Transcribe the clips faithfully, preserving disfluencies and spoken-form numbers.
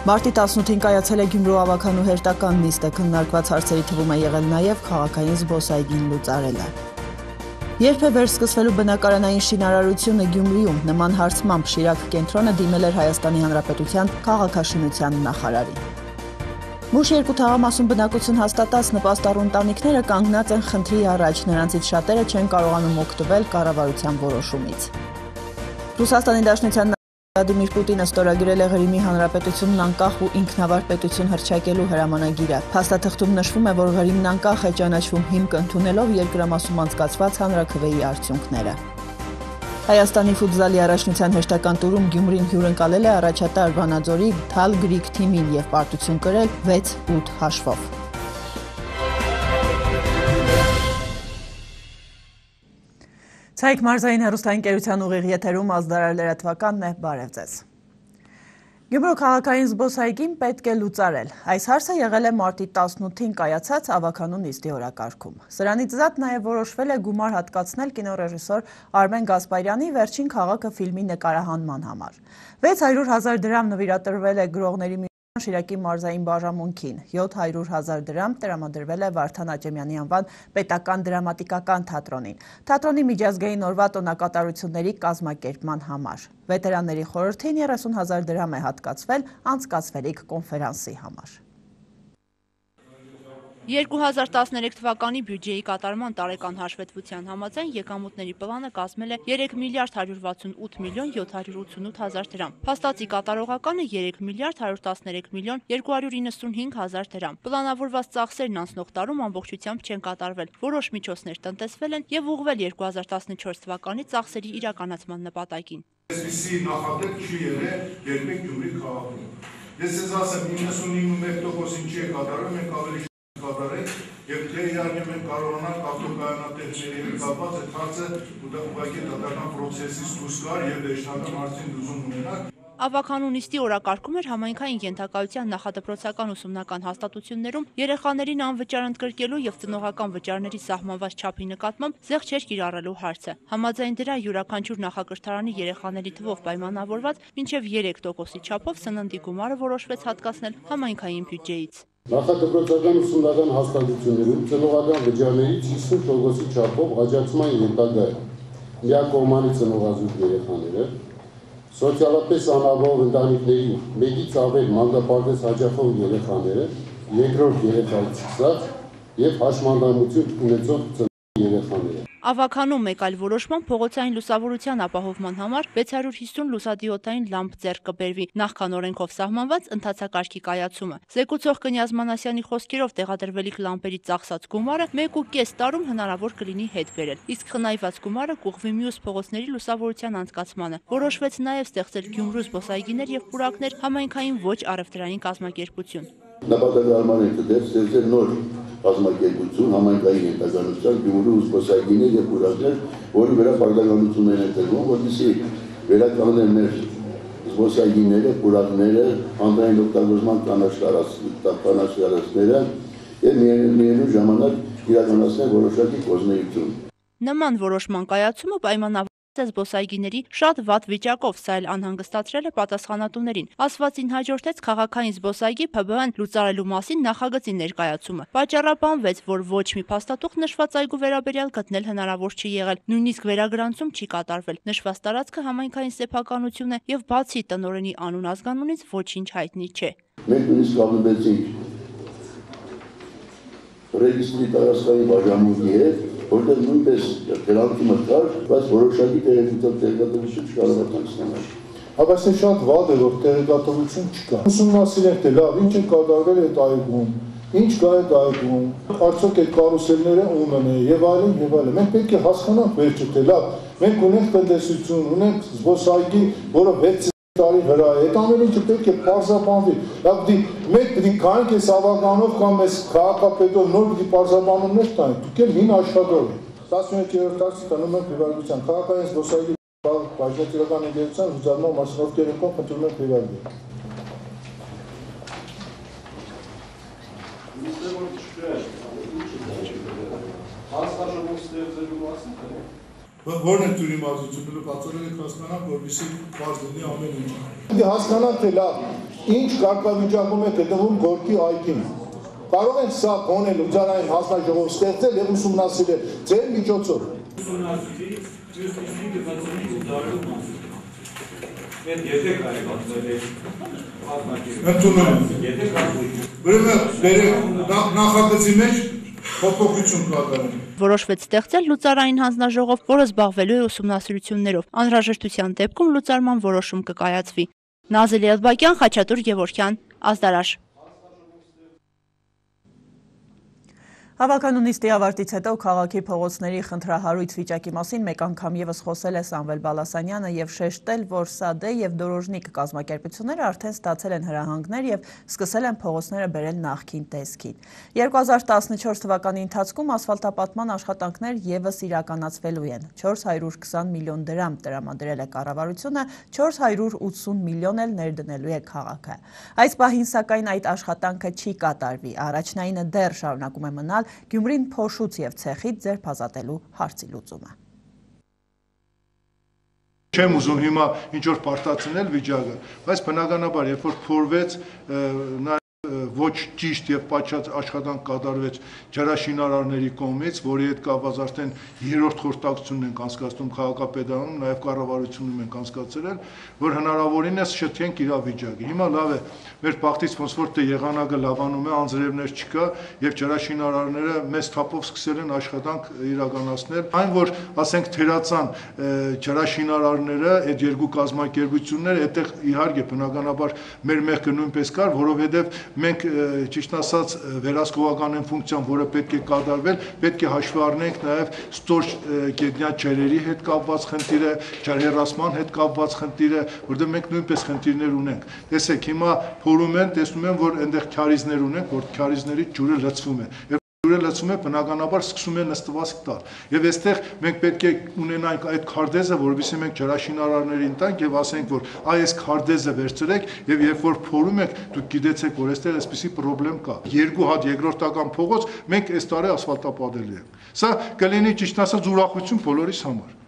Մարտի տասնութին կայացել է Գյումրու ավագանու հերթական նիստը, քննարկված հարցերի թվում է եղել նաև քաղաքային զբոսայգին լուծարելը։ Երբ է վերսկսվելու բնակարանային շինարարությունը Գյումրիում, նման հարցմամբ Շիրակ կենտրոնը դիմել էր Հայաստանի Հանրապետության քաղաքաշինության նախարարին։ Մուշ երկու թաղամասում բնակություն հաստատած նպաստառու ընտանիքները կանգնած են խնդրի առաջ, նրանցից շատերը չեն կարողանում օգտվել կառավարության որոշումից։ Ռուսաստանի Դաշնության Վլադիմիր Պուտինը ստորագրել է Ղրիմի Հանրապետությունն անկախ ու ինքնավար պետություն հռչակելու հրամանագիրը։ Փաստաթղթում նշվում է, որ Ղրիմն անկախ է ճանաչվում հիմք ընդունելով երկրամասում անցկացված հանրաքվեի արդյունքները։ Հայաստանի ֆուտզալի առաջնության հերթական տուրում Գյումրին հյուրընկալել է առաջատար Վանաձորի Թալ Գրիք թիմին և պարտություն կրել վեց ութ հաշվով։ Ցայք մարզային հեռուստաընկերության ուղիղ եթերում ազդարար լրատվականն է, բարև ձեզ։ Գյումրու քաղաքային զբոսայգին պետք է լուծարել։ Այս հարցը եղել է մարտի տասնութին կայացած ավագանու նիստի օրակարգում։ Սրանից զատ նաև որոշվել է գումար հատկացնել կինոռեժիսոր Արմեն Գասպարյանի Վերջին քաղաքը ֆիլմի նկարահանման համար։ վեց հարյուր հազար դրամ նվիրատրվել է գրողների Շիրակի մարզային բաժանմունքին, յոթ հարյուր հազար դրամ տրամադրվել է Վարդան Աճեմյանի անվան պետական դրամատիկական թատրոնին, թատրոնի միջազգային օրվա տոնակատարությունների կազմակերպման համար։ Վետերանների խորհրդին երեսուն հազար դրամ է հատկացվել անցկացվելիք կոնֆերանսի համար։ երկու հազար տասներեք թվականի բյուջեի կատարման տարեկան հաշվետվության համաձայն եկամուտների պլանը կազմել է երեք միլիարդ հարյուր վաթսունութ միլիոն յոթ հարյուր ութսունութ հազար դրամ։ Փաստացի կատարողականը երեք միլիարդ հարյուր տասներեք միլիոն երկու հարյուր իննսունհինգ հազար դրամ։ Պլանավորված ծախսերն անցնող տարում ամբողջությամբ չեն կատարվել, որոշ միջոցներ տնտեսվել են եւ ուղղվել երկու հազար տասնչորս թվականի ծախսերի իրականացման նպատակին։ Այսպիսի նախատեպ չի եղել երբեք Գյումրի քաղաքում։ Ես ձեզ ասեմ, իննսունհինգ տոկոս ինչի է կատարվել, մենք ավելի կատարենք եւ դե իհարկե մենք կարողանանք ավտոկայանատերերի հետ կապված այդ հարցը ուղղակի դատական պրոցեսից դուրս գար եւ դեշնական հարցին դուզում ունենալ։ Ավագանու նիստի օրակարգում էր համայնքային ենթակայության նախադպրոցական ուսումնական հաստատություններում երեխաներին անվճար ընդգրկելու եւ ծնողական վճարների սահմանված չափի նկատմամբ զեղչ կիրառելու հարցը։ Համաձայն դրա յուրաքանչյուր նախակրթարանի երեխաների թվով պայմանավորված մինչեւ երեք տոկոսի չափով սննդի գումարը որոշվեց հատկացնել համայնքային բյուջեից։ Նախադպրոցական ուսումնական հաստատություններում ծնողական վճարներից հիսուն տոկոսի չափով աջակցման ենթակա է միակողմանի ծնողազուրկ երեխաները, սոցիալապես անապահով ընտանիքների մեկից ավել մանկապարտեզ հաճախող երեխաները, երկրորդ երեխայից սկսած եւ հաշմանդամություն ունեցող ծնողի երեխաները։ Ավագանում մեկ այլ որոշման փողոցային լուսավորության ապահովման համար վեց հարյուր հիսուն լուսադիոդային լամպ ձեռք կբերվի, նախքան օրենքով սահմանված ընթացակարգի կայացումը։ Զեկուցող Կնյազ Մանասյանի խոսքերով տեղադրվելիք լամպերի ծախսած գումարը մեկ ու կես տարում հնարավոր կլինի հետ բերել, իսկ խնայված գումարը կուղղվի մյուս փողոցների լուսավորության անցկացմանը։ Որոշվեց նաև ստեղծել Գյումրու զբոսայգիներ եւ պուրակներ համայնքային ոչ առևտրային կազմակերպություն։ Նպատակարարման է դեպ ստեղծել նոր կազմակերպություն համայնքային ենթականության Գյումրու զբոսայգիներ եւ պուրակներ, որի վրա պարտականություններ են տրվում, որպեսզի վերականգնեն մեր զբոսայգիները, պուրակները, հանրային օգտագործման կանաչարացները եւ միևնույն ժամանակ իրականացնել որոշակի կազմակերպություն։ Նման որոշման կայացումը պայմանավորված է զբոսայգիների շատ վատ վիճակով, սա էլ անհանգստացրել է պատասխանատուներին։ Ասվածին հաջորդեց քաղաքային զբոսայգի Փ B Ն լուծարելու մասին նախագծի ներկայացումը։ Պատճառաբանվեց, որ ոչ մի փաստաթուղթ նշված այգու վերաբերյալ գտնել հնարավոր չի եղել, նույնիսկ վերագրանցում չի կատարվել։ Նշված տարածքը համայնքային սեփականություն է եւ բացի տնօրենի անուն ազգանունից ոչինչ հայտնի չէ։ Մենք նույնիսկ կապվեցինք ռեգիստրի տարածքային բաժանմունքի հետ, որտեղ նույնպես գրանցումը կար, բայց որոշակի տեղեկատվություն չկարողացանք ստանալ։ Հավասար շատ վատ է, որ տեղեկատվություն չկա։ Ուսումնասիրենք, թե լավ, ինչ է կատարվել այդ այգում, ինչ կա այդ այգում, արդյոք այդ կարուսելները ումն է եւ այլն եւ այլն։ Մենք պետք է հասկանանք վերջը, թե լավ, մենք ունենք տնտեսություն, ունենք զբոսայգի, որը վեց տարի վրա է, այդ ամեն ինչը պետք է պարզաբանվի։ Լավ, դի մենք պետք է գանք այս ավականով կամ այս քաղաքապետով նոր պետք է պարզաբանումներ տանք, դուք էլ հին աշխատող եք։ տասնյոթերորդ հարցը տանում ենք հիվանդության քաղաքային զբոսայգի բաժնետիրական ընկերության լուծարման մասնավոր խնդրում ենք հիվանդի։ Հանձնաժողով ստեղծելու մասին Որն է դուրի մարզությունը կացորել եք հասկանանք, որպեսզի բարձ լինի ամեն ինչ։ Հասկանանք, թե լավ, ինչ կարգավիճակում է գտնվում Գորկի այգին։ Կարող են սա գոնել լուծարային հանձնաժողով ստեղծել եւ ուսումնասիրել ձեր միջոցով։ Ընդունում եմ նախագծի մեջ փոփոխություն կատարել։ Որոշվեց ստեղծել լուծարային հանձնաժողով, որը զբաղվելու է ուսումնասիրություններով։ Անհրաժեշտության դեպքում լուծարման որոշում կկայացվի։ Նազելի Ալբակյան, Խաչատուր Գևորգյան, Ազդարաշ։ Հավաքանու նիստի ավարտից հետո քաղաքի փողոցների խնդրահարույց վիճակի մասին մեկ անգամ ևս խոսել է Սամվել Բալասանյանը եւ շեշտել, որ ՍԱԴ եւ Դորոժնիկ կազմակերպությունները արդեն ստացել են հրահանգներ եւ սկսել են փողոցները բերել նախկին տեսքին։ երկու հազար տասնչորս թվականի ընթացքում ասֆալտապատման աշխատանքներ ևս իրականացվելու են։ չորս հարյուր քսան միլիոն դրամ տրամադրել է կառավարությունը, չորս հարյուր ութսուն միլիոն էլ ներդնելու է քաղաքը։ Այս պահին սակայն այդ աշխատանքը չի կատարվի։ Առաջնայինը դեռ շարունակում է մնալ Գյումրին փոշուց եւ ցեխից ձերբազատելու հարցի լուծումը։ Չեմ ուզում հիմա ինչ որ պարտացնել վիճակը, բայց բնականաբար երբ որ փորվեց ոչ ճիշտ եւ պատշաճ աշխատանք կատարվեց ջրաշինարարների կողմից, որի հետ կապված արդեն երրորդ խորհրդակցությունն ենք անցկացնում քաղաքապետարանում, նաեւ կառավարությունում ենք անցկացրել, որ հնարավորինս շտկենք իրավիճակը։ Հիմա լավ է, մեր բախտից ոնց որ թե եղանակը լավանում է, անձրևներ չկա եւ ջրաշինարարները մեծ թափով սկսել են աշխատանք իրականացնել։ Այն որ ասենք թերացան ջրաշինարարները, այդ երկու կազմակերպությունները, այդտեղ իհարկե բնականաբար մեր մեղքը նույնպես կար, որովհետեւ մենք ճիշտ ասած վերահսկողական են ֆունկցիան, որը պետք է կատարվել, պետք է հաշվի առնենք նաև ստոր գետնյա ջրերի հետ կապված խնդիրը, ջրհեռացման հետ կապված խնդիրը, որտեղ մենք նույնպես խնդիրներ ունենք։ Տեսեք, հիմա փորում են, տեսնում են, որ այնտեղ քարիզներ ունենք, որ քարիզների ջուրը լցվում է։ Ջուրը լցվում է, բնականաբար սկսում է նստվածք տալ։ Եվ այստեղ մենք պետք է ունենանք այդ քարտեզը, որովհետեւ մենք ջրաշինարարներին տանք եւ ասենք, որ այ այս քարտեզը վերցրեք եւ երբ որ փորում եք, դուք գիտեցեք, որ այստեղ այսպիսի խնդրեմ կա։ Երկու հատ երկրորդական փողոց մենք այս տարի ասֆալտապատելու ենք։ Սա կլինի ճիշտ ասած ուրախություն բոլորիս համար։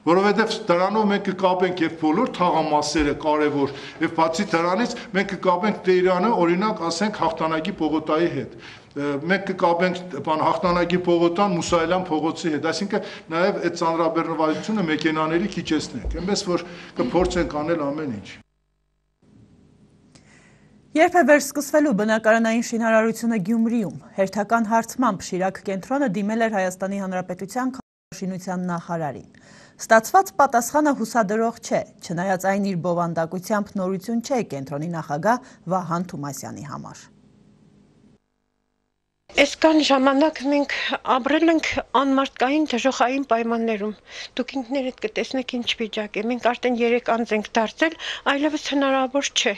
Որովհետև դրանով մենք կկապենք եւ բոլոր թաղամասերը կարևոր եւ բացի դրանից մենք կկապենք Տերյանը, օրինակ, ասենք հաղթանակի պողոտայի հետ։ Մենք կկապենք բան հաղթանակի պողոտան Մուսայելյան փողոցի հետ, այսինքն նաեւ այդ ծանրաբեռնվածությունը մեքենաների քիչեցնենք, այնպես որ կփորձենք անել ամեն ինչ։ Երբ է վերսկսվելու բնակարանային շինարարությունը Գյումրիում, հերթական հարցմամբ Շիրակ կենտրոնը դիմել էր Հայաստանի Հանրապետության քաղաքաշինության նախարարին։ Ստացված պատասխանը հուսադրող չէ, չնայած այն իր բովանդակությամբ նորություն չէ կենտրոնի նախագահ Վահան Թումասյանի համար։ Այսքան ժամանակ մենք ապրել ենք անմարդկային դժոխային պայմաններում։ Դուք ինքներդ կտեսնեք ինչ վիճակ է։ Մենք արդեն երեք անց ենք դարձել, այլևս հնարավոր չէ։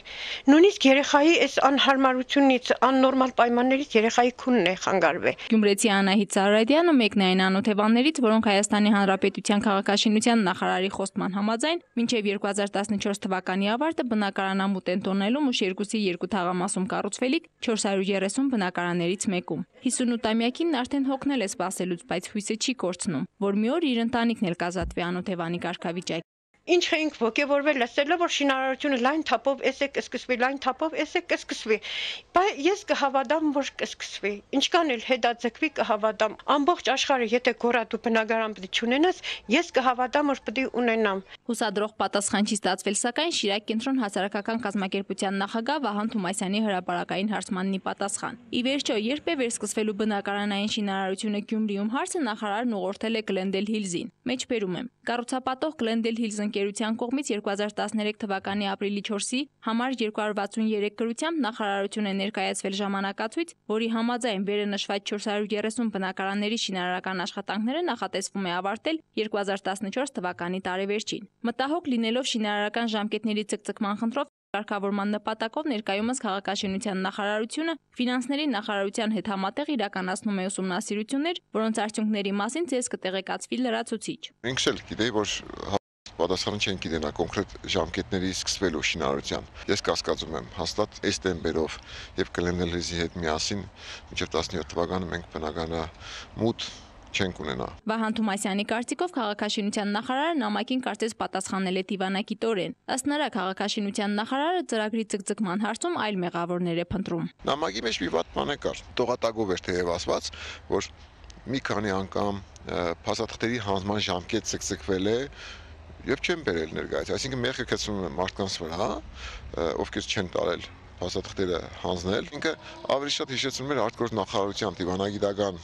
Նույնիսկ երեխայի այս անհարմարությունից, աննորմալ պայմաններից երեխայի քունն է խանգարվել։ Գյումրեցի Անահիտ Սարարյանը մեկն է այն անօթևաններից, որոնք Հայաստանի Հանրապետության քաղաքաշինության նախարարի խոստման համաձայն մինչև երկու հազար տասնչորս թվականի ավարտը բնակարանամուտ են տոնելու Մուշերգուսի երկու թաղամասում կառուցվելիք չորս հարյուր երեսուն բնակարաններից մեկում։ հիսունութամյակին արդեն հոգնել է սպասելուց, բայց հույսը չի կորցնում, որ մի օր իր ընտանիքն էլ կազատվի անօթևանի կարգավիճակ։ Ինչ ենք ոգևորվել լսելով, որ շինարարությունը լայն թափով էս է կսկսվի, լայն թափով էս է կսկսվի։ Բայց ես կհավատամ, որ կսկսվի։ Ինչքան էլ հետաձգվի կհավատամ։ Ամբողջ աշխարհը եթե գոռատու բնակարան պետք չունենաս, ես կհավատամ, որ պետք է ունենամ։ Հուսադրող պատասխան չի ստացվել, սակայն Շիրակ կենտրոն հասարակական կազմակերպության նախագահ Վահան Թումասյանի հրապարակային հարցմանն ի պատասխան։ Ի վերջո, երբ է վերսկսվելու բնակարանային շինարարությունը Գյումրիում հարցը նախարարն ուղղորդել է Glendale Hills-ին։ Մեջբերում եմ։ Կառուցապատող Glendale Hills ընկերության կողմից երկու հազար տասներեք թվականի ապրիլի չորսի համար երկու հարյուր վաթսուներեք գրությամբ նախարարություն է ներկայացվել ժամանակացույց, որի համաձայն վերը նշված չորս հարյուր երեսուն բնակարանների շինարարական աշխատանքները նախատեսվում է ավարտել երկու հազար տասնչորս թվականի տարեվերջին։ Մտահոգ լինելով շինարարական ժամկետների ցկցկման խնդրով կարգավորման նպատակով ներկայումս քաղաքաշինության նախարարությունը ֆինանսների նախարարության հետ համատեղ իրականացնում է ուսումնասիրություններ, որոնց արդյունքների մասին ցես կտեղեկացվի լրացուցիչ։ Ինքս էլ գիտեի, որ պատասխանը չեն գիտենա կոնկրետ ժամկետների սկսվելու շինարարության։ Ես կասկածում եմ հաստատ այս տեմպերով եւ Glendale Hills-ի հետ միասին մինչեւ տասնյոթ թվականը մենք բնակարանամուտ չենք ունենա։ Վահան Թումասյանի կարծիքով քաղաքաշինության նախարարը նամակին կարծես պատասխանել է դիվանագիտորեն։ Ըստ նրա քաղաքաշինության նախարարը ծրագրի ձգձգման հարցում այլ մեղավորներ է փնտրում։ Նամակի մեջ մի վատ բան է կար։ Տողատագով էր թեև ասված, որ մի քանի անգամ փաստաթղթերի հանձնման ժամկետ ցկցկվել է եւ չեն բերել ներկայացի, այսինքն մեղքը կցվում է մարդկանց վրա, ովքեր չեն տարել փաստաթղթերը հանձնել։ Ինքը ավելի շատ հիշեցնում էր արտգործ նախարարության դիվանագիտական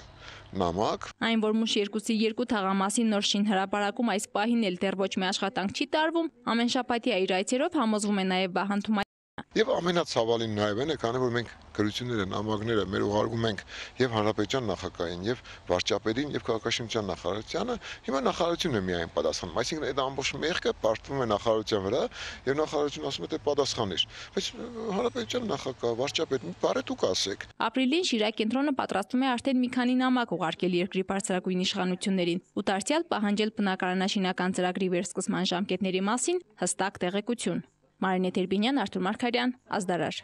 նամակ։ Այն, որ Մուշ երկուսի երկու թաղամասի նոր շինհրապարակում այս պահին էլ դեռ ոչ մի աշխատանք չի տարվում, ամեն շաբաթյա իր այցերով համոզվում է նաև Վահան Թումասյանը։ Եվ ամենացավալին նաև այն է, քանի որ մենք գրությունները, նամակները մեր ուղարկում ենք եւ հանրապետության նախագահին, եւ վարչապետին, եւ քաղաքաշինության նախարարությանը, հիմա նախարարությունն է միայն պատասխանում։ Այսինքն այդ ամբողջ մեղքը պարտվում է նախարարության վրա եւ նախարարությունը ասում է թե պատասխանիր։ Բայց հանրապետության նախագահ, վարչապետ, մի բառ դուք ասեք։ Ապրիլին Շիրակ կենտրոնը պատրաստում է արդեն մի քանի նամակ ուղարկել երկրի բարձրագույն իշխանություններին ու դարձյալ պահանջել բնակարանաշինական ծրագրի վերսկսման ժամկետների մասին հստակ տեղեկություն։ Մարինե Տերբինյան, Արթուր Մարգարյան, Ազդարար։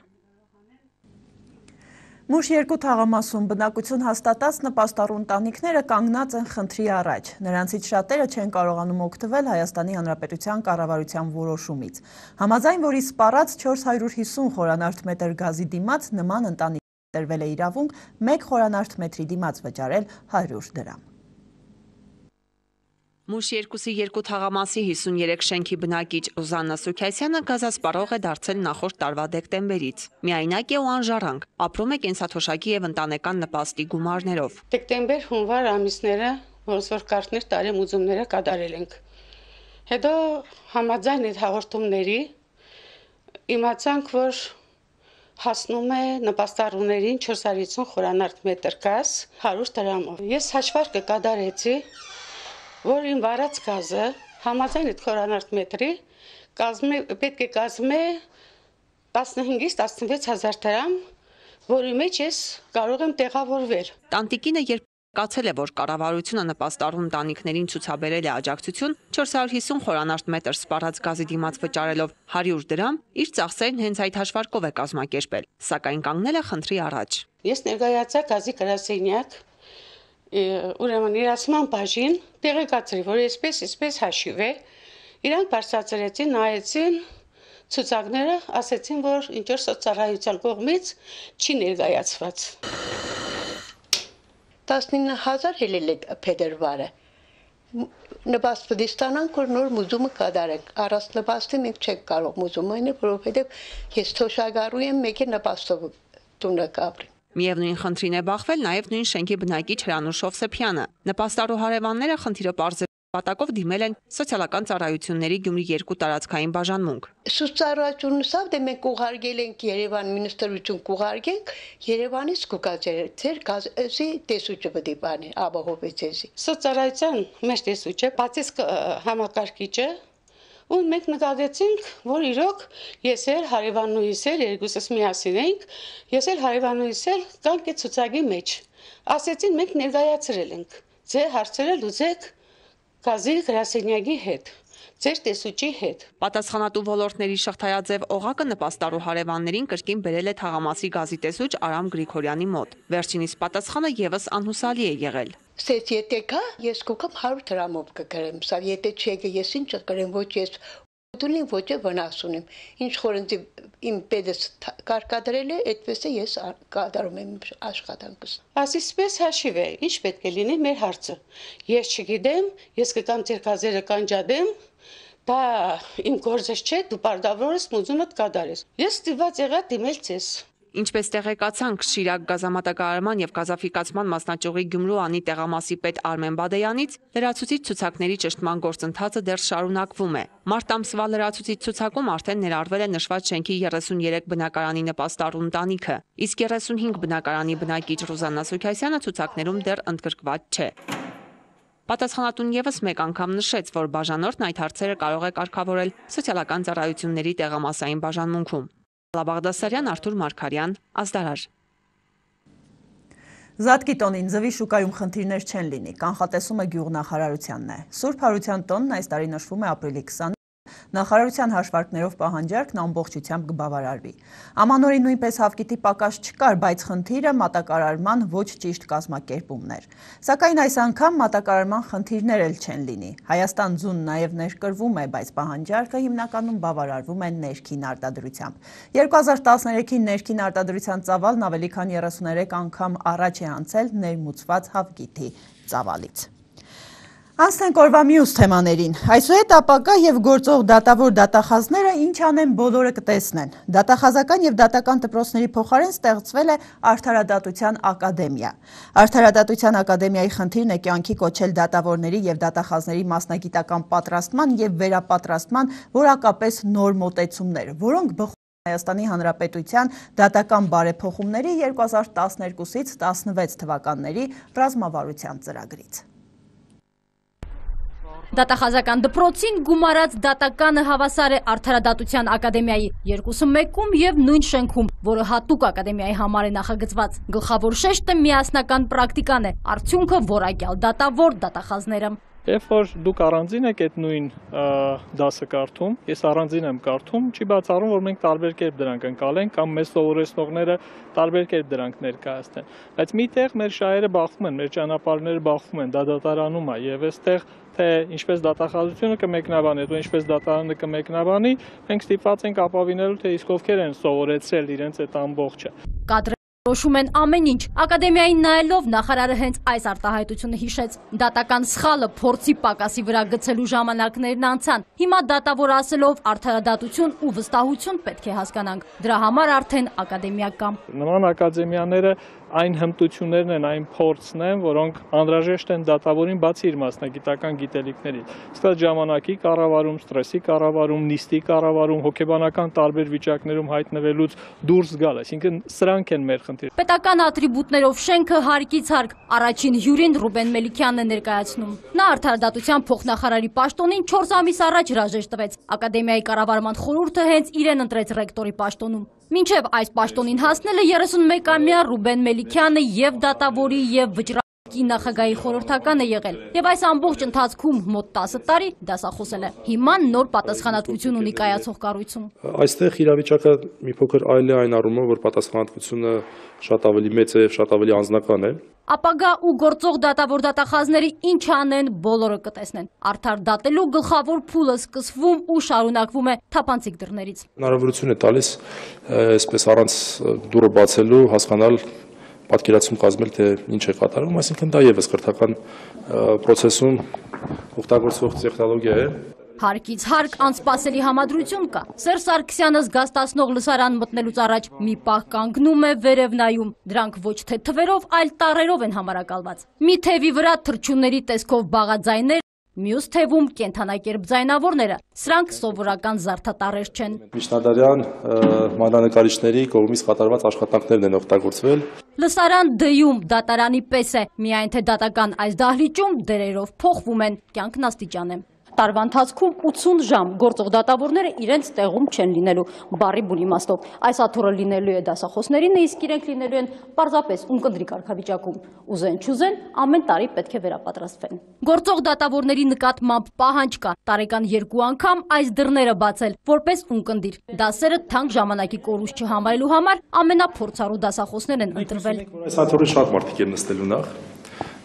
Մուշ երկու թաղամասում բնակություն հաստատած նպաստառու ընտանիքները կանգնած են խնդրի առաջ։ Նրանցից շատերը չեն կարողանում օգտվել Հայաստանի Հանրապետության կառավարության որոշումից։ Համաձայն որի սպառած չորս հարյուր հիսուն խորանարդ մետր գազի դիմաց նման ընտանիքին տրվել է իրավունք մեկ խորանարդ մետրի դիմաց վճարել հարյուր դրամ։ Մուշ երկուսի երկու թաղամասի հիսուներեք շենքի բնակիչ Ռուզաննա Սուքյասյանը գազասպառող է դարձել նախորդ տարվա դեկտեմբերից։ Միայնակ է ու անժառանգ, ապրում է կենսաթոշակի եւ ընտանեկան նպաստի գումարներով։ Դեկտեմբեր-հունվար ամիսները որսորկարտներ տարեմուծումները կատարել ենք։ Հետո համաձայն այդ հաղորդումների իմացանք, որ հասնում է նպաստառուներին չորս հարյուր հիսուն խորանարդ մետր գազ հարյուր դրամով։ Ես հաշվարկը կատարեցի, որ իմ վարած գազը համաձայն այդ խորանարդ մետրի կազմի պետք է կազմի տասնհինգից տասնվեց հազար դրամ, որի մեջ ես կարող եմ տեղավորվել։ Տանտիկինը երբ կացել է, որ կառավարությունը նպաստառու ընտանիքներին ցուցաբերել է աջակցություն չորս հարյուր հիսուն խորանարդ մետր սպառած գազի դիմաց վճարելով հարյուր դրամ, իր ծախսերն հենց այդ հաշվարկով է կազմակերպել, սակայն կանգնել է խնդրի առաջ։ Ես ներկայացա գազի գրասենյակ, ուրեմն իրացման բաժին տեղեկացրի, որ այսպես, այսպես հաշիվ է, իրանք բարձրացրեցին, նայեցին ցուցակները, ասեցին, որ ինչ որ սոցիալական կողմից չի ներկայացված։ տասնինը հազար հելել է փետրվարը։ Նպաստի ստանանք, որ նոր մուզումը կատարենք։ Առանց նպաստի մենք չենք կարող մուզում անել, որովհետև ես թոշակառու եմ, մեկը նպաստով տունը կապրի։ Միևնույն խնդրին է բախվել նաև նույն շենքի բնակիչ Հրանուշ Հովսեփյանը։ Նպաստառու հարևանները խնդիրը պարզել պատակով դիմել են սոցիալական ծառայությունների Գյումրի երկու տարածքային բաժանմունք։ Սոցիալությունը սա դե մենք ուղարկել ենք Երևան մինիստրություն կուղարկենք, Երևանից կուկացել ձեր գազի տեսուչը պետք է բանի, ապահովեցի։ Սոցիալայցիան մեր տեսուչը, բացից համակարգիչը, ու մենք նկատեցինք, որ իրոք ես էլ հարևանուհիս էլ երկուսս միասին ենք, ես էլ հարևանուհիս էլ կանք է ցուցակի մեջ։ Ասեցին մենք ներկայացրել ենք, ձեր հարցերը լուծեք գազի գրասենյակի հետ, ձեր տեսուչի հետ։ Պատասխանատու ոլորտների շղթայաձև օղակը նպաստառու հարևաններին կրկին բերել է թաղամասի գազի տեսուչ Արամ Գրիգորյանի մոտ։ Վերջինիս պատասխանը եւս անհուսալի է եղել։ Սեծ եթե կա, ես կուկամ հարյուր դրամով կգրեմ, սա եթե չեկը ես ինչ կգրեմ, ոչ ես դունին ոչ է վնաս ունեմ։ Ինչ խորենցի իմ պետս կարկադրել է, այդպես է ես կատարում եմ աշխատանքս։ Ասիսպես հաշիվ է, ինչ պետք է լինի մեր հարցը։ Ես չգիտեմ, ես կգամ ձեր գազերը կանջադեմ, դա իմ գործը չէ, դու պարտավոր ես մուզումդ կատարես։ Ես ստիպված եղա դիմել ձեզ։ Ինչպես տեղեկացանք Շիրակ գազամատակարարման եւ գազաֆիկացման մասնաճյուղի Գյումրու անի տեղամասի պետ Արմեն Բադեյանից լրացուցիչ ցուցակների ճշտման գործընթացը դեռ շարունակվում է։ Մարտ ամսվա լրացուցիչ ցուցակում արդեն ներառվել է նշված շենքի երեսուներեք բնակարանի նպաստառու ընտանիքը, իսկ երեսունհինգ բնակարանի բնակիչ Ռուզաննա Սուքյասյանը ցուցակներում դեռ ընդգրկված չէ։ Պատասխանատուն եւս մեկ անգամ նշեց, որ բաժանորդն այդ հարցերը կարող է կարգավորել սոցիալական ծառայությունների տեղամասային բաժանմունքում։ Բաղդասարյան, Արթուր Մարգարյան, Ազդարար։ Զատկի տոնին ձվի շուկայում խնդիրներ չեն լինի, կանխատեսումը գյուղնախարարությանն է։ Սուրբ Հարության տոնն այս տարի նշվում է ապրիլի քսանինը, նախարարության հաշվարկներով պահանջարկն ամբողջությամբ կբավարարվի։ Ամանորին նույնպես հավկիթի պակաս չկար, բայց խնդիրը մատակարարման ոչ ճիշտ կազմակերպումն էր։ Սակայն այս անգամ մատակարարման խնդիրներ էլ չեն լինի։ Հայաստան ձուն նաև ներկրվում է, բայց պահանջարկը հիմնականում բավարարվում է ներքին արտադրությամբ։ երկու հազար տասներեքին ներքին արտադրության ծավալն ավելի քան երեսուներեք անգամ առաջ է անցել ներմուծված հավկիթի ծավալից։ Անցնենք օրվա մյուս թեմաներին։ Այսուհետ ապագա եւ գործող դատավոր դատախազները ինչ անեն բոլորը կտեսնեն։ Դատախազական եւ դատական դպրոցների փոխարեն ստեղծվել է Արդարադատության ակադեմիա։ Արդարադատության ակադեմիայի խնդիրն է կյանքի կոչել դատավորների եւ դատախազների մասնագիտական պատրաստման եւ վերապատրաստման որակապես նոր մոտեցումներ, որոնք բխում Հայաստանի Հանրապետության դատական բարեփոխումների երկու հազար տասներկուսից տասնվեց թվականների ռազմավարության ծրագրից։ Դատախազական դպրոցին գումարած դատականը հավասար է Արդարադատության ակադեմիայի երկուսը մեկում եւ նույն շենքում, որը հատուկ ակադեմիայի համար է նախագծված։ Գլխավոր շեշտը միասնական պրակտիկան է, արդյունքը որակյալ դատավոր դատախազները։ Երբ որ դուք առանձին եք այդ նույն դասը կարդում, ես առանձին եմ կարդում, չի բացառում, որ մենք տարբեր կերպ դրանք ընկալենք կամ մեզ սովորեցնողները տարբեր կերպ դրանք ներկայացնեն։ Բայց միտեղ մեր շահերը բախվում են, մեր ճանապարհները բախվում են, դա դատարանում է եւ այստեղ թե ինչպես դատախազությունը կմեկնաբանի, თუ ինչպես դատարանը կմեկնաբանի, մենք ստիպված ենք ապավինելու, թե իսկ ովքեր են սովորեցրել իրենց այդ ամբողջը։ Որոշում են ամեն ինչ։ Ակադեմիային նայելով նախարարը հենց այս արտահայտությունը հիշեց։ Դատական սխալը փորձի պակասի վրա գցելու ժամանակներն անցան։ Հիմա դատավոր ասելով արդարադատություն ու վստահություն պետք է հասկանանք։ Դրա համար արդեն ակադեմիա կա։ Նման ակադեմիաները այն հմտություններն են, այն փորձն են, որոնք անհրաժեշտ են դատավորին բացի իր մասնագիտական գիտելիքներից։ Իսկ այդ ժամանակի կառավարում, ստրեսի կառավարում, նիստի կառավարում, հոգեբանական տարբեր վիճակներում հայտնվելուց դուրս գալ, այսինքն սրանք են մեր խնդիրը։ Պետական ատրիբուտներով շենքը հարկից հարկ առաջին հյուրին Ռուբեն Մելիքյանն է ներկայացնում։ Նա արդարադատության փոխնախարարի պաշտոնին չորս ամիս առաջ հրաժեշտ տվեց։ Ակադեմիայի կառավարման խորհուրդը հենց իրեն ընտրեց ռեկտորի պաշտոնում։ Մինչև այս պաշտոնին հասնելը երեսունմեկամյա Ռուբեն Մելիքյանը եւ դատավորի եւ վճռակի նախագահի խորհրդական է եղել եւ այս ամբողջ ընթացքում մոտ տասը տարի դասախոսել է։ Հիմա նոր պատասխանատվություն ունի կայացող կառույցում։ Այստեղ իրավիճակը մի փոքր այլ է այն առումով, որ պատասխանատվությունը շատ ավելի մեծ է եւ շատ ավելի անձնական է։ Ապագա ու գործող դատավոր դատախազների ինչ անեն բոլորը կտեսնեն։ Արդար դատելու գլխավոր փուլը սկսվում ու շարունակվում է թափանցիկ դռներից։ Հնարավորություն է տալիս այսպես առանց դուռը բացելու հասկանալ պատկերացում կազմել, թե ինչ է կատարվում, այսինքն դա եւս կրթական process-ում օգտագործվող տեխնոլոգիա է։ Հարկից հարկ անսպասելի համադրություն կա։ Սերժ Սարգսյանը զգաստացնող լսարան մտնելուց առաջ մի պահ կանգնում է վերև նայում։ Դրանք ոչ թե թվերով, այլ տառերով են համարակալված։ Մի թևի վրա թռչունների տեսքով բաղաձայներ, մյուս թևում կենդանակերպ ձայնավորները։ Սրանք սովորական զարդատառեր չեն։ Միջնադարյան մանրանկարիչների կողմից կատարված աշխատանքներն են օգտագործվել։ Լսարան դյում դատարանի պես է, միայն թե դատական այս դահլիճում դերերով փոխվում են, կյանքն աստիճան է։ Տարվա ընթացքում ութսուն ժամ գործող դատավորները իրենց տեղում չեն լինելու բառի բուն իմաստով։ Այս աթոռը լինելու է դասախոսներին, իսկ իրենք լինելու են պարզապես ունկնդրի կարգավիճակում։ Ուզեն չուզեն, ամեն տարի պետք է վերապատրաստվեն։ Գործող դատավորների նկատմամբ պահանջ կա տարեկան երկու անգամ այս դռները բացել, որպես ունկնդիր։ Դասերը թանկ ժամանակի կորուստ չհամարելու համար ամենափորձառու դասախոսներն են ընտրվել։ Այս աթոռի շատ մարդիկ են նստելու նախ։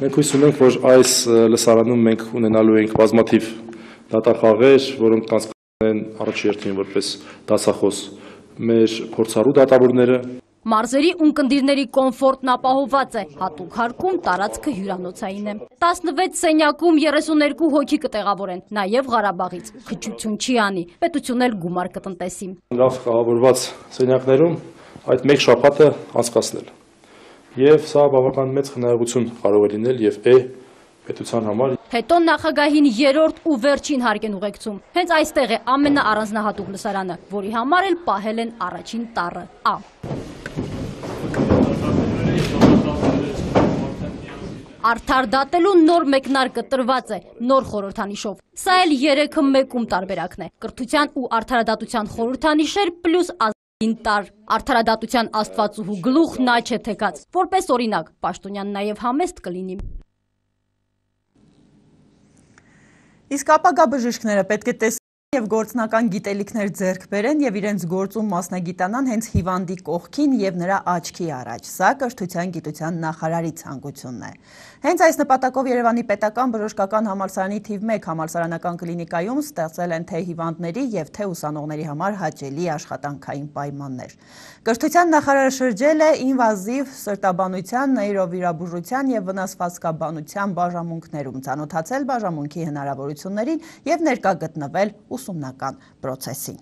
Մենք հույս ունենք, որ այս լսարանում մենք ունենալու ենք բազմաթիվ դատախաղեր, որոնք կանցկացնեն առաջերտին որպես դասախոս մեր փորձառու դատավորները։ Մարզերի ունկնդիրների կոմֆորտն ապահովված է, հատուկ հարկում տարածքը հյուրանոցային է։ տասնվեց սենյակում երեսուներկու հոգի կտեղավորեն, նաև Ղարաբաղից, քչություն չի անի, պետությունն էլ գումար կտնտեսի։ Լավ կահավորված սենյակներում այդ մեկ շաբաթը անցկացնել։ Եվ սա բավական մեծ խնայողություն կարող է լինել եւ է պետության համար։ Հետո նախագահին երրորդ ու վերջին հարկ են ուղեկցում։ Հենց այստեղ է ամենաառանձնահատուկ լսարանը, որի համար էլ պահել են առաջին տառը Ա։ Արդար դատելու նոր մեկնարկը տրված է, նոր խորհրդանիշով։ Սա էլ երեքը մեկում տարբերակն է։ Կրթության ու արդարադատության խորհրդանիշեր պլյուս ազգային տար։ Արդարադատության աստվածուհու գլուխ նա չէ թեկած։ Որպես օրինակ, պաշտոնյան նաև համեստ կլինի։ Իսկ ապագա բժիշկները պետք է տեսնեն Եվ գործնական գիտելիքներ ձեռք բերեն եւ իրենց գործում մասնագիտանան հենց հիվանդի կողքին եւ նրա աչքի առաջ։ Սա կրթության գիտության նախարարի ցանկությունն է։ Հենց այս նպատակով Երևանի պետական բժշկական համալսարանի թիվ մեկ համալսարանական կլինիկայում ստեղծել են թե հիվանդների եւ թե ուսանողների համար հաճելի աշխատանքային պայմաններ։ Կրթության նախարարը շրջել է ինվազիվ սրտաբանության, նեյրովիրաբուժության եւ վնասվածքաբանության բաժանմունքներում, ծանոթացել բաժանմունքի հնարավորություններին եւ ներկա գտնվել ուսումնական պրոցեսին։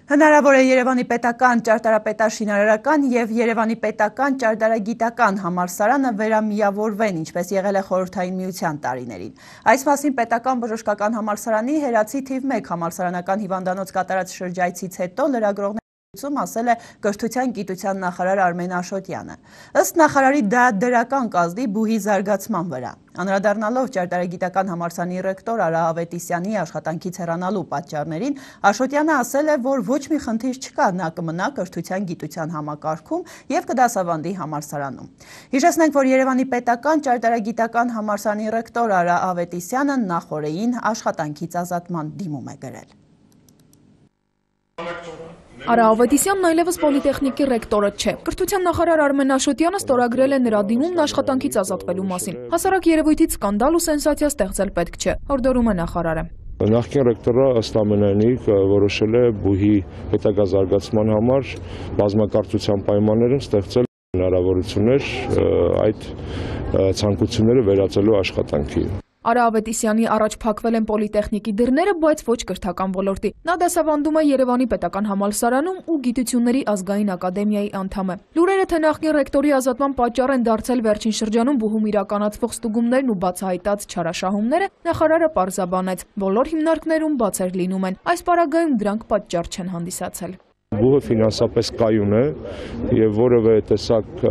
Հնարավոր է Երևանի պետական ճարտարապետաշինարարական եւ Երևանի պետական ճարտարագիտական համալսարանը վերամիավորվեն, ինչպես եղել է խորհրդային միության տարիներին։ Այս մասին պետական բժշկական համալսարանի Հերացի թիվ մեկ համալսարանական հիվանդանոց կատարած շրջայցից հետո լրագրողներ ասել է կրթության գիտության նախարար Արմեն Աշոտյանը։ Ըստ նախարարի դա դրական կազդի բուհի զարգացման վրա։ Անդրադառնալով ճարտարագիտական համալսարանի ռեկտոր Արա Ավետիսյանի աշխատանքից հեռանալու պատճառներին, Աշոտյանը ասել է, որ ոչ մի խնդիր չկա, նա կմնա կրթության գիտության համակարգում եւ կդասավանդի համալսարանում։ Հիշեցնենք, որ Երևանի պետական ճարտարագիտական համալսարանի ռեկտոր Արա Ավետիսյանը նախորդին աշխատանքից ազատման դիմում է գրել։ Արա Ավետիսյանն այլևս պոլիտեխնիկի ռեկտորը չէ։ Կրթության նախարար Արմեն Աշոտյանը ստորագրել է նրա դիմումն աշխատանքից ազատվելու մասին։ Հասարակ երևույթից սկանդալ ու սենսացիա ստեղծել պետք չէ, հորդորում է նախարարը։ Նախկին ռեկտորը ըստ ամենայնի որոշել է բուհի հետագա զարգացման համար բազմակարծության պայմաններում ստեղծել հնարավորություններ այդ ցանկությունները վերածելու աշխատանքի։ Արա Ավետիսյանի առաջ փակվել են պոլիտեխնիկի դռները, բայց ոչ կրթական ոլորտի։ Նա դասավանդում է Երևանի պետական համալսարանում ու Գիտությունների ազգային ակադեմիայի անդամ է։ Լուրերը, թե նախկին ռեկտորի ազատման պատճառ են դարձել վերջին շրջանում բուհում իրականացվող ստուգումներն ու բացահայտած չարաշահումները, նախարարը պարզաբանեց, բոլոր հիմնարկներում բացեր լինում են։ Այս պարագայում դրանք պատճառ չեն հանդիսացել։ Բուհը ֆինանսապես կայուն է եւ որևէ տեսակ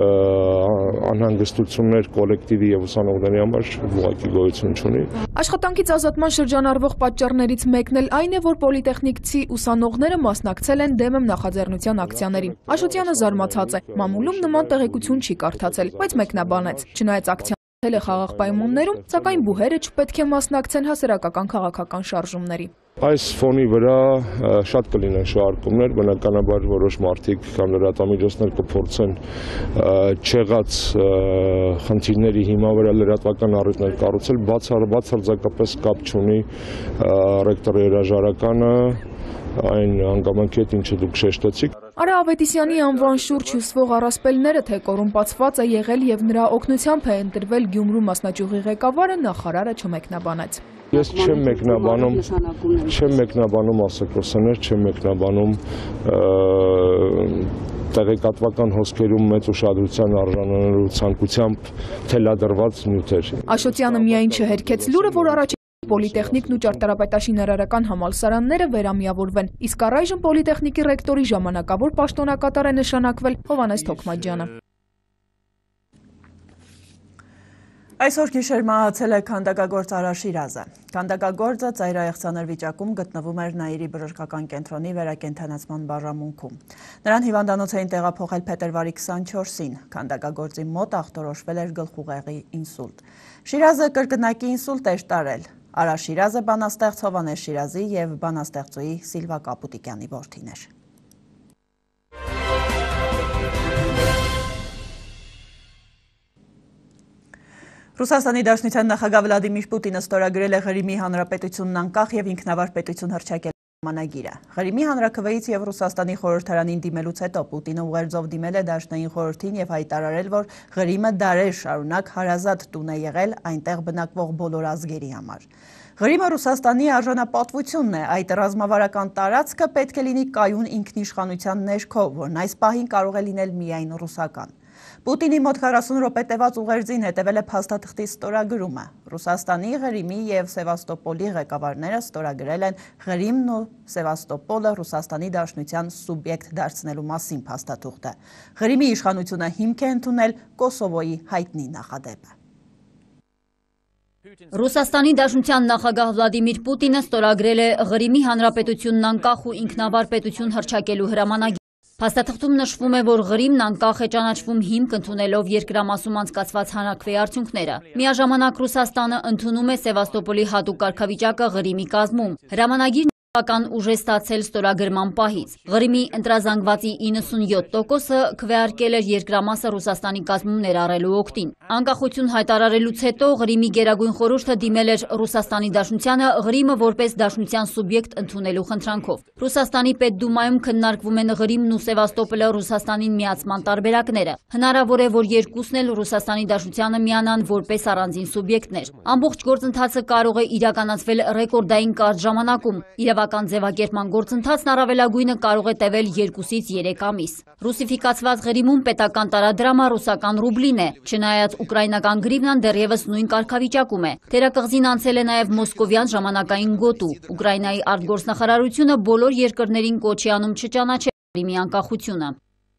անհանգստություններ կոլեկտիվի եւ ուսանողների համար ուղղակի գոյություն չունի։ Աշխատանքից ազատման շրջանառվող պատճառներից մեկն էլ այն է, որ պոլիտեխնիկցի ուսանողները մասնակցել են դեմ եմ նախաձեռնության ակցիաներին։ Աշոտյանը զարմացած է, մամուլում նման տեղեկություն չի կարդացել, բայց մեկնաբանեց, չնայած ակցիան է խաղաղ պայմաններում, սակայն բուհերը չպետք է մասնակցեն հասարակական քաղաքական շարժումների։ Այս ֆոնի վրա շատ կլինեն շարժումներ, բնականաբար որոշ մարդիկ կամ լրատվամիջոցներ կփորձեն չեղած խնդիրների հիմա վրա լրատվական առիթներ կառուցել, բացարձակապես կապ չունի ռեկտորի հրաժարականը այն հանգամանքի հետ, ինչը դուք շեշտեցիք։ Արա Ավետիսյանի անվան շուրջ հյուսվող առասպելները, թե կոռումպացված է եղել եւ նրա օգնությամբ է ընտրվել Գյումրու մասնաճյուղի ղեկավարը, նախարարը չմեկնաբանեց։ Ես չեմ մեկնաբանում, չեմ մեկնաբանում ասեկոսներ, չեմ մեկնաբանում տեղեկատվական հոսքերում մեծ ուշադրության արժանանալու ցանկությամբ թելադրված նյութեր։ Աշոտյանը միայն չհերքեց լուրը, որ առաջ պոլիտեխնիկն ու ճարտարապետաշինարարական համալսարանները վերամիավորվեն, իսկ առայժմ պոլիտեխնիկի ռեկտորի ժամանակավոր պաշտոնակատար է նշանակվել Հովհաննես Թոքմաջյանը։ Այսօր գիշեր մահացել է քանդակագործ Արա Շիրազը։ Քանդակագործը ծայրահեղձանր վիճակում գտնվում էր Նաիրի բժշկական կենտրոնի վերակենդանացման բաժանմունքում։ Նրան հիվանդանոց էին տեղափոխել փետրվարի քսանչորսին։ Քանդակագործի մոտ ախտորոշվել էր գլխուղեղի ինսուլտ։ Շիրազը կրկնակի ինսուլտ էր տարել։ Արա Շիրազը բանաստեղծ Հովհաննես Շիրազի եւ բանաստեղծուհի Սիլվա Կապուտիկյանի որդին էր։ Ռուսաստանի Դաշնության նախագահ Վլադիմիր Պուտինը ստորագրել է Ղրիմի Հանրապետությունն անկախ եւ ինքնավար պետություն հռչակել պայմանագիրը։ Ղրիմի հանրաքվեից եւ Ռուսաստանի խորհրդարանին դիմելուց հետո Պուտինը ուղերձով դիմել է Դաշնային խորհրդին եւ հայտարարել, որ Ղրիմը դարեր շարունակ հարազատ տուն է եղել այնտեղ բնակվող բոլոր ազգերի համար։ Ղրիմը Ռուսաստանի արժանապատվությունն է, այդ ռազմավարական տարածքը պետք է լինի կայուն ինքնիշխանության ներքո, որն այս պահին կարող է լինել միայն ռուսական։ Պուտինի մոտ քառասուն րոպե տևած ուղերձին հետևել է փաստաթղթի ստորագրումը։ Ռուսաստանի, Ղրիմի եւ Սևաստոպոլի ղեկավարները ստորագրել են Ղրիմն ու Սևաստոպոլը Ռուսաստանի Դաշնության սուբյեկտ դարձնելու մասին փաստաթուղթը։ Ղրիմի իշխանությունը հիմք է ընդունել Կոսովոյի հայտնի նախադեպը։ Ռուսաստանի Դաշնության նախագահ Վլադիմիր Պուտինը ստորագրել է Ղրիմի հանրապետությունն անկախ ու ինքնավար պետություն հռչակելու հրամանագիր։ Փաստաթղթում նշվում է, որ Ղրիմն անկախ է ճանաչվում հիմք ընդունելով երկրամասում անցկացված հանրաքվեի արդյունքները։ Միաժամանակ Ռուսաստանը ընդունում է Սևաստոպոլի հատուկ կարգավիճակը Ղրիմի կազմում։ Հրամանագիրն Ական ուժ է ստացել ստորագրման պահից։ Ղրիմի ընտրազանգվածի իննսունյոթ տոկոսը քվեարկել էր երկրամասը Ռուսաստանի կազմում ներառելու օգտին։ Անկախություն հայտարարելուց հետո Ղրիմի գերագույն խորհուրդը դիմել էր Ռուսաստանի Դաշնությանը Ղրիմը որպես դաշնության սուբյեկտ ընդունելու խնդրանքով։ Ռուսաստանի Պետդումայում քննարկվում են Ղրիմն ու Սևաստոպոլը Ռուսաստանին միացման տարբերակները։ Հնարավոր է, որ երկուսն էլ Ռուսաստանի Դաշնությանը միանան որպես առանձին սուբյեկտներ։ Ամբողջ գործընթացը կարող է իրականացվել ռեկորդային կարճ ժամանակում։ Իրավական ձևակերպման գործընթացն առավելագույնը կարող է տևել երկուսից երեք ամիս։ Ռուսիֆիկացված Ղրիմում պետական տարադրամը ռուսական ռուբլին է, չնայած ուկրաինական գրիվնան դեռևս նույն կարգավիճակում է։ Թերակղզին անցել է նաև մոսկովյան ժամանակային գոտու։ Ուկրաինայի արտգործնախարարությունը բոլոր երկրներին կոչ է անում չճանաչել Ղրիմի անկախությունը։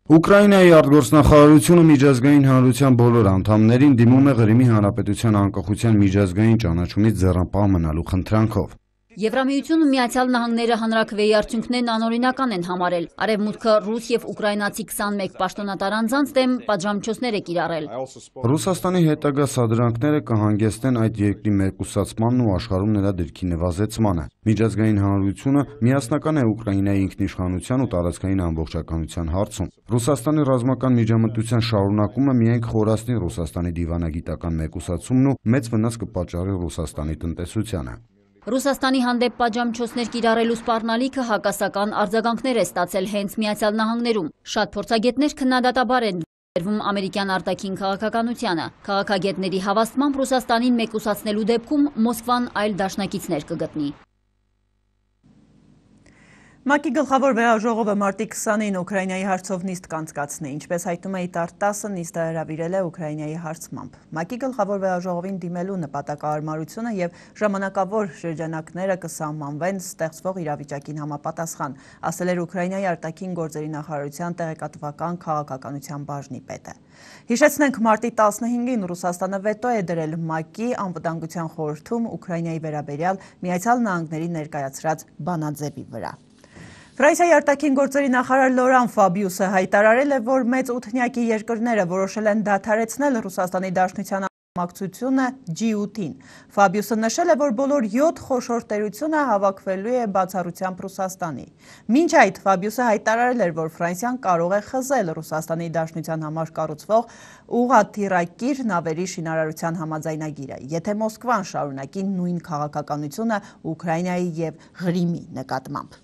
Ուկրաինայի արտգործնախարարությունը միջազգային հանրության բոլոր անդամներին դիմում է Ղրիմի հանրապետության անկախության միջազգային ճանաչումից ձեռնպահ մնալու խնդրանքով։ Եվրամիությունն ու Միացյալ Նահանգները հանրաքվեի արդյունքներն անօրինական են համարել։ Արևմուտքը ռուս եւ ուկրաինացի քսանմեկ պաշտոնատար անձանց դեմ պատժամիջոցներ է կիրառել։ Ռուսաստանի հետագա սադրանքները կհանգեցնեն այդ երկրի մեկուսացմանն ու աշխարհում նրա դիրքի նվազեցմանը։ Միջազգային հանրությունը միասնական է Ուկրաինայի ինքնիշխանության ու տարածքային ամբողջականության հարցում։ Ռուսաստանի ռազմական միջամտության շարունակումը միայն կխորացնի Ռուսաստանի դիվանագիտական մեկուսացումն ու մեծ վնաս կպատճառի Ռուսաստանի տնտեսությանը։ Ռուսաստանի հանդեպ պատժամիջոցներ կիրառելու սպառնալիքը հակասական արձագանքներ է ստացել հենց Միացյալ Նահանգներում։ Շատ փորձագետներ քննադատաբար են վերվում ամերիկյան արտաքին քաղաքականությանը։ Քաղաքագետների հավաստմամբ Ռուսաստանին մեկուսացնելու դեպքում Մոսկվան այլ դաշնակիցներ կգտնի։ ՄԱԿ-ի գլխավոր վեհաժողովը մարտի քսանին Ուկրաինայի հարցով նիստ կանցկացնի, ինչպես հայտնում է ԻՏԱՐ տասը, նիստը հրավիրել է Ուկրաինայի հարցմամբ։ ՄԱԿ-ի գլխավոր վեհաժողովին դիմելու նպատակահարմարությունը եւ ժամանակավոր շրջանակները կսահմանվեն ստեղծվող իրավիճակին համապատասխան, ասել էր Ուկրաինայի արտաքին գործերի նախարարության տեղեկատվական քաղաքականության բաժնի պետը։ Հիշեցնենք, մարտի տասնհինգին Ռուսաստանը վետո է դրել ՄԱԿ-ի անվտանգության խորհրդում Ուկրաինայի վերաբերյալ Միացյալ Նահանգների ներկայացրած բանաձևի վրա։ Ֆրանսիայի արտաքին գործերի նախարար Լորան Ֆաբիուսը հայտարարել է, որ մեծ ութնյակի երկրները որոշել են դադարեցնել Ռուսաստանի Դաշնության անկախությունը ջի ութին։ Ֆաբիուսը նշել է, որ բոլոր յոթ խոշոր տերությունը հավաքվելու է բացառությամբ Ռուսաստանի։ Մինչ այդ Ֆաբիուսը հայտարարել էր, որ Ֆրանսիան կարող է խզել Ռուսաստանի Դաշնության համար կառուցվող ուղղաթիռակիր նավերի շինարարության համաձայնագիրը, եթե Մոսկվան շարունակի նույն քաղաքականությունը Ուկրաինայի եւ Ղրիմի նկատմամբ։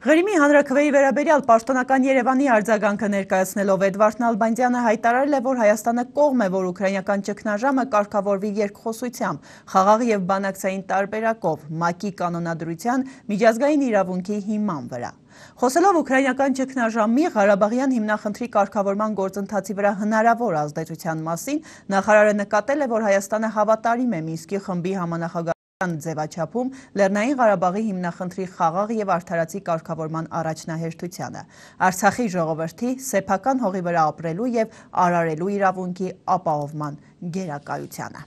Ղրիմի հանրաքվեի վերաբերյալ պաշտոնական Երևանի արձագանքը ներկայացնելով Էդվարդ Նալբանդյանը հայտարարել է, որ Հայաստանը կողմ է, որ ուկրաինական ճգնաժամը կարգավորվի երկխոսությամբ, խաղաղ եւ բանակցային տարբերակով, ՄԱԿ-ի կանոնադրության միջազգային իրավունքի հիման վրա։ Խոսելով ուկրաինական ճգնաժամի Ղարաբաղյան հիմնախնդրի կարգավորման գործընթացի վրա հնարավոր ազդեցության մասին, նախարարը նկատել է, որ Հայաստանը հավատարիմ է Մինսկի խմբի համանախագահ ձևաչափում Լեռնային Ղարաբաղի հիմնախնդրի խաղաղ եւ արդարացի կարգավորման առաջնահերթությանը, Արցախի ժողովրդի սեփական հողի վրա ապրելու եւ արարելու իրավունքի ապահովման գերակայությանը։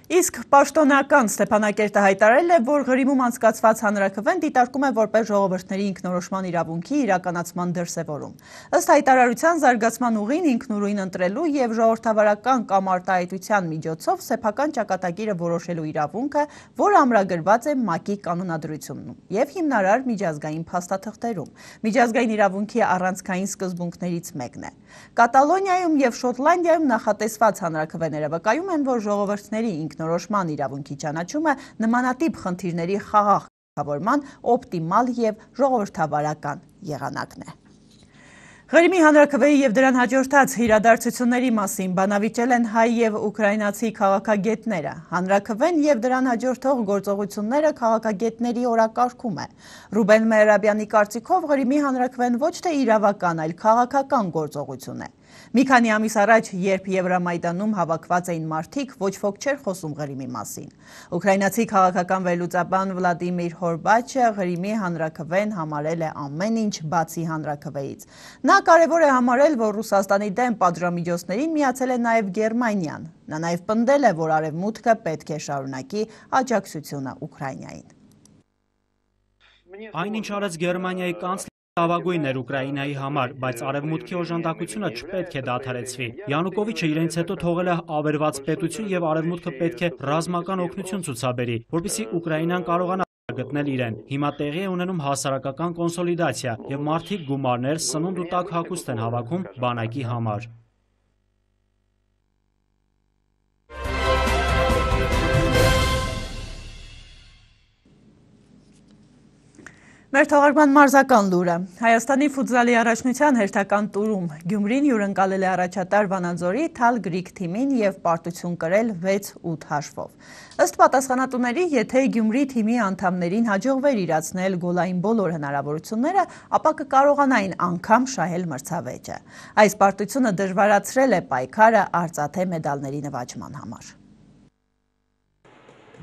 Իսկ պաշտոնական Ստեփանակերտը հայտարարել է, որ Ղրիմում անցկացված հանրաքվեն դիտարկում է որպես ժողովրդների ինքնորոշման իրավունքի իրականացման դրսևորում։ Ըստ հայտարարության զարգացման ուղին ինքնուրույն ընտրելու եւ ժողովրդավարական կամ արտահայտության միջոցով սեփական ճակատագիրը որոշելու իրավունքը, որ ամրագրված է ՄԱԿ-ի կանոնադրությունում եւ հիմնարար միջազգային փաստաթղթերում։ Միջազգային իրավունքի առանցքային սկզբունքներից մեկն է։ Կատալոնիայում եւ Շոտլանդիայում նախատեսված հանրաքվեները վկայում են, որ ժողովրդների ինքնորոշման իրավունքի ճանաչումը նմանատիպ խնդիրների խաղաղ կարգավորման օպտիմալ եւ ժողովրդավարական եղանակն է։ Ղրիմի հանրաքվեի եւ դրան հաջորդած իրադարձությունների մասին բանավիճել են հայ եւ ուկրաինացի քաղաքագետները։ Հանրաքվեն եւ դրան հաջորդող գործողությունները քաղաքագետների օրակարգում է։ Ռուբեն Մեհրաբյանի կարծիքով Ղրիմի հանրաքվեն ոչ թե իրավական, այլ քաղաքական գործողություն է։ Մի քանի ամիս առաջ, երբ Եվրամայդանում հավաքված էին մարդիկ, ոչ ոք չէր խոսում Ղրիմի մասին։ Ուկրաինացի քաղաքական վերլուծաբան Վլադիմիր Հորբաչը Ղրիմի հանրաքվեն համարել է ամեն ինչ բացի հանրաքվեից։ Նա կարևոր է համարել, որ Ռուսաստանի դեմ պատժամիջոցներին միացել է նաև Գերմանիան։ Նա նաև պնդել է, որ Արևմուտքը պետք է շարունակի աջակցությունը Ուկրաինային։ Այն ինչ արեց Գերմանիայի կանցլերը Լավագույնն էր Ուկրաինայի համար, բայց արևմուտքի օժանդակությունը չպետք է դադարեցվի։ Յանուկովիչը իրենց հետո թողել է ավերված պետություն եւ արևմուտքը պետք է ռազմական օգնություն ցուցաբերի, որպեսզի Ուկրաինան կարողանա գտնել իրեն։ Հիմա տեղի է ունենում հասարակական կոնսոլիդացիա եւ մարդիկ գումարներ, սնունդ ու տաք հագուստ են հավաքում բանակի համար։ Մեր թողարկման մարզական լուրը։ Հայաստանի ֆուտզալի առաջնության հերթական տուրում Գյումրին հյուրընկալել է առաջատար Վանաձորի Թալ Գրիգ թիմին եւ պարտություն կրել վեց ութ հաշվով։ Ըստ պատասխանատուների, եթե Գյումրի թիմի անդամներին հաջողվեր իրացնել գոլային բոլոր հնարավորությունները, ապա կկարողանային անգամ շահել մրցավեճը։ Այս պարտությունը դժվարացրել է պայքարը արծաթե մեդալների նվաճման համար։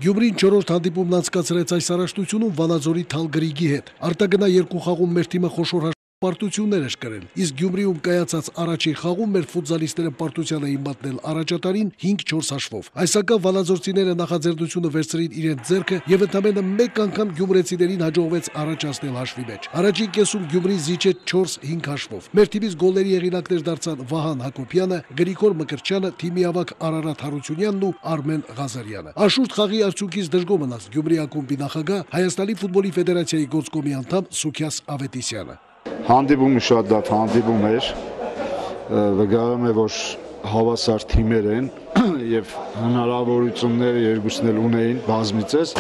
Գյումրին չորրորդ հանդիպումն անցկացրեց այս առաջնությունում Վանաձորի Թալ Գրիգի հետ։ Արտագնա երկու խաղում մեր թիմը խոշոր պարտություններ էր կրել, իսկ Գյումրիում կայացած առաջին խաղում մեր ֆուտզալիստները պարտության էին մատնել առաջատարին հինգ չորս հաշվով։ Այսակա վանաձորցիները նախաձեռնությունը վերցրին իրենց ձեռքը եւ ընդամենը մեկ անգամ գյումրեցիներին հաջողվեց առաջացնել հաշվի մեջ։ Առաջին կեսում Գյումրին զիջեց չորս հինգ հաշվով։ Մեր թիմից գոլերի հեղինակներ դարձան Վահան Հակոբյանը, Գրիգոր Մկրտչյանը, թիմի ավագ Արարատ Հարությունյանն ու Արմեն Ղազարյանը։ Աշուրդ խաղի արդյունքից դժգոհ մնաց Գյումրի ակումբի նախագահ Հայաստանի ֆուտբոլի ֆեդերացիայի գործկոմի անդամ Սուքիաս Ավետիսյանը։ Հանդիպումը շատ լավ հանդիպում էր, վկայում է, որ հավասար թիմեր են եւ հնարավորությունները երկուսն էլ ունեին բազմիցս,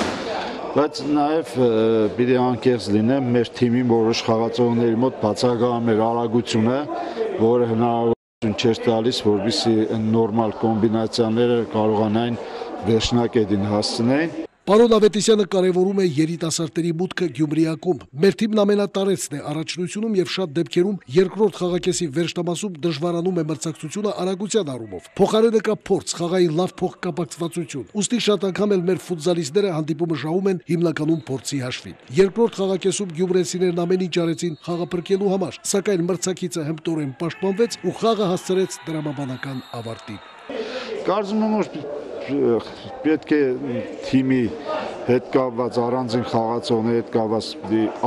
բայց նաեւ պիտի անկեղծ լինեմ, մեր թիմի որոշ խաղացողների մոտ բացակայում էր արագությունը, որը հնարավորություն չէր տալիս, որպեսզի նորմալ կոմբինացիաները կարողանային վերջնակետին հասցնեին։ Պարոն Ավետիսյանը կարևորում է երիտասարդների մուտքը Գյումրի ակումբ։ Մեր թիմն ամենատարեցն է առաջնությունում եւ շատ դեպքերում երկրորդ խաղակեսի վերջնամասում դժվարանում է մրցակցությունը արագության առումով։ Փոխարենը կա փորձ, խաղային լավ փոխկապակցվածություն։ Ուստի շատ անգամ էլ մեր ֆուտզալիստները հանդիպումը շահում են հիմնականում փորձի հաշվին։ Երկրորդ խաղակեսում գյումրեցիներն ամեն ինչ արեցին խաղը փրկելու համար, սակայն մրցակիցը հմտորեն պաշտպանվեց ու խաղը հասցրեց դրամաբանական ավարտին։ Կարծում եմ, որ պետք է թիմի հետ կապված առանձին խաղացողների հետ կապված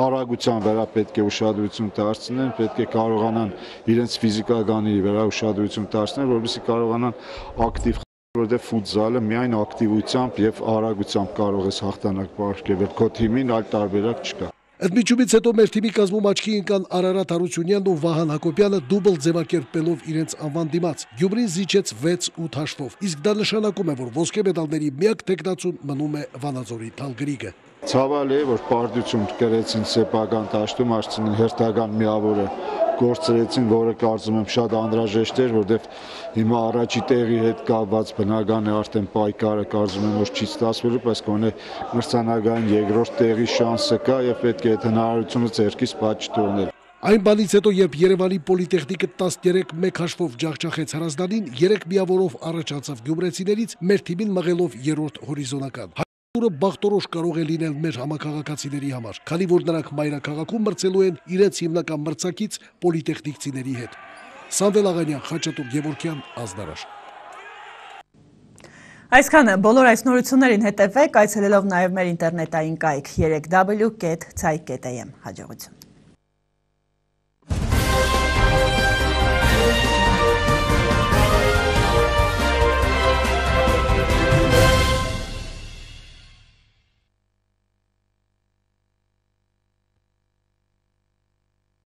արագության վրա պետք է ուշադրություն դարձնեն, պետք է կարողանան իրենց ֆիզիկականի վրա ուշադրություն դարձնել, որպեսզի կարողանան ակտիվ խաղալ, որովհետև ֆուտզալը միայն ակտիվությամբ եւ արագությամբ կարող է հաղթանակ պարգևել քո թիմին, այլ տարբերակ չկա։ Ընդմիջումից հետո մեր թիմի կազմում աչքի ընկան Արարատ Հարությունյանն ու Վահան Հակոբյանը դուբլ ձևակերպելով իրենց անվան դիմաց։ Գյումրին զիջեց վեց ութ հաշվով, իսկ դա նշանակում է, որ ոսկե մեդալների միակ տեխնացուն մնում է Վանաձորի Թալ Գրիգը։ Ցավալի է, որ պարտություն կրեցին սեփական դաշտում, արդյունքն հերթական միավորը գործրեցին, որը կարծում եմ շատ անհրաժեշտ էր, որովհետև հիմա առաջի տեղի հետ կապված բնական է արդեն պայքարը կարծում եմ որ չի ստացվելու, բայց գոնե մրցանակային երկրորդ տեղի շանսը կա եւ պետք է այդ հնարավորությունը ձեռքից բաց չթողնել։ Այն բանից հետո, երբ Երևանի պոլիտեխնիկը տասներեք մեկ հաշվով ջախջախեց Հրազդանին, երեք միավորով առաջ անցավ գյումրեցիներից, մեր թիմին մղելով երրորդ հորիզոնական։ Ուրը բախտորոշ կարող է լինել մեր համակարգացիների համար, քանի որ նրանք մայրաքաղաքում մրցելու են իրենց հիմնական մրցակից պոլիտեխնիկցիների հետ։ Սամվել Աղանյան, Խաչատուր Գևորգյան, Ազդարաշ։ Այսքանը բոլոր այս նորություններին հետևեք, այցելելով նաև մեր ինտերնետային կայք երեք w կետ ցայ կետ am։ Հաջողություն։